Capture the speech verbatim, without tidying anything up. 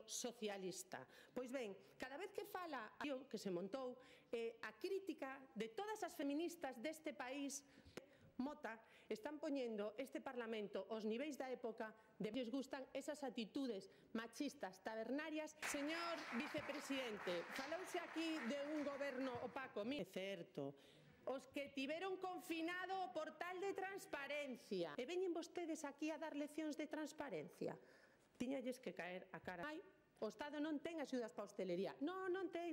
socialista. Pois ben, cada vez que fala que se montou eh, a crítica de todas as feministas deste país Mota, están poñendo este Parlamento aos niveis da época de que lles gustan esas actitudes machistas, tabernarias. Señor vicepresidente, falouse aquí de un goberno opaco. É certo. Os que tiveron confinado o portal de transparencia. E veñen vostedes aquí a dar leccións de transparencia. Tiñalles que caer a cara. Ai, o Estado non ten axudas para a hostelería. Non, non ten.